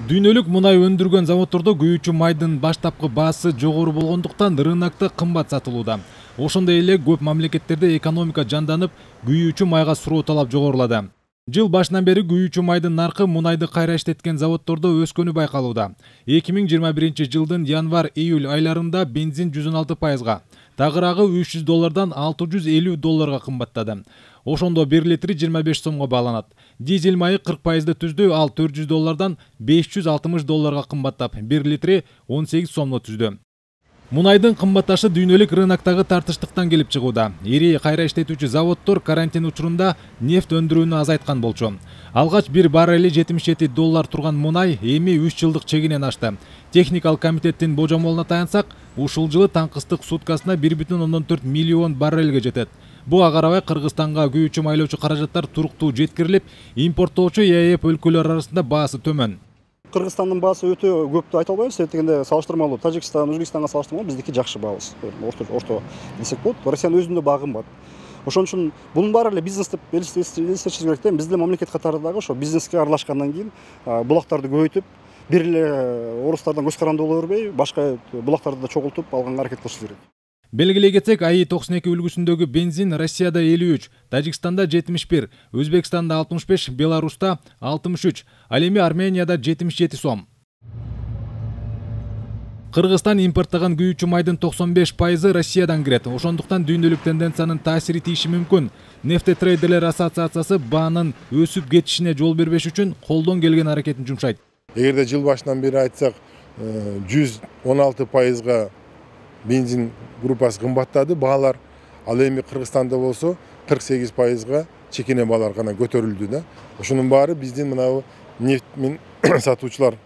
Дүйнөлүк мунай өндүргөн заводдордо күйүүчү майдын баштапкы баасы жогору болгондуктан рынокто кымбат сатылууда. Ошондой эле көп мамлекеттерде экономика жанданып, күйүүчү майга суроо талап жогорулады. Жыл башынан бери күйүүчү майдын наркы мунайды кайра иштеткен заводдордо өскөнү байкалууда. 2021 жылдын январь-июль айларында бензин 116%, тагыраагы $300 $650 кымбаттады. Ошондо 1 литри 25 сомго бааланат. Дизель майы 40% түздү, ал $400 $560 кымбаттап, 1 литри 18 сомго түздү. Мунайдын кымбатташы дүйнөлүк рыноктогу тартыштыктан келип чыгууда. Ири кайра иштетүүчү заводдор карантин учурунда нефть өндүрүүнү азайткан болчу. Алгач $1 баррели $77 турган мунай эми 3 жылдык чегинен ашты. Техникалык комитеттин божомолуна таянсак, ушул жылы таңкыстык суткасына 1,4 миллион баррелге жетет. Буга карабай Кыргызстанга күйүүчү майлоочу каражаттар туруктуу жеткирилип, импорттоочу ЕЭП өлкөлөр арасында баасы төмөн. Кыргызстандын баасы өтө көп деп айта албайбыз. Дегенде салыштырмалуу Тажикстан, Өзбекстанга салыштырмалуу биздики жакшы баабыз. Орто десек болот. Россиянын өзүндө багы кымбат. Ошон үчүн бунун баары эле бизнес деп элестетишибиз керек да. Биз деле мамлекет катарындагы ошо бизнеске аралашкандан кийин булактарды көбөйтүп, бир эле орустардан көз каранды боло бербей, башка булактарды да чогултуп алганга аракет кылышыбыз керек. Белгилей кетсек, АИ-92 үлгүсүндөгү бензин Россияда 53, Тажикстанда 71, Өзбекстанда 65, Беларуста 63, ал эми Арменияда 77 сом. Кыргызстан импорттогон күйүүчү майдын 95% Россиядан кирет. Ошондуктан дүйнөлүк тенденциянын таасири тииши мүмкүн. Нефтетрейдерлер ассоциациясы баанын өсүп кетишине жол бербеш үчүн колдон келген аракетин жумшайт. Эгерде жыл башынан бери айтсак, 116%га бензин группасы кымбаттады баалар. Ал эми Кыргызстанда болсо 48%га чекене баалар гана көтөрүлдү да. Ошонун баары биздин мына нефть сатуучулар,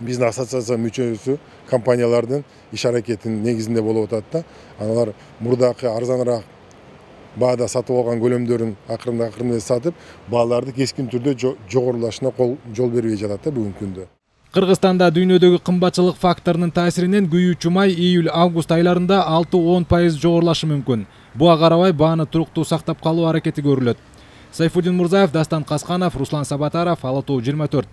биздин ассоциация мүчөсү компаниялардын иш аракетинин негизинде болуп атат да. Алар мурдакы арзаныраак баада сатып алган көлөмдөрүн акырында сатып, бааларды кескин түрдө жогорулашына жол бербей жатат да бүгүнкү күндө. Кыргызстанда дүйнөдөгү кымбатчылык факторунун таасиринен күйүүчү май июль-август айларында 6-10% жогорулашы мүмкүн. Буга карабай бааны туруктуу сактап калуу аракети көрүлөт. Сайфуддин Мурзаев, Дастан Касканов, Руслан Сабатаров, Ала Тоо 24.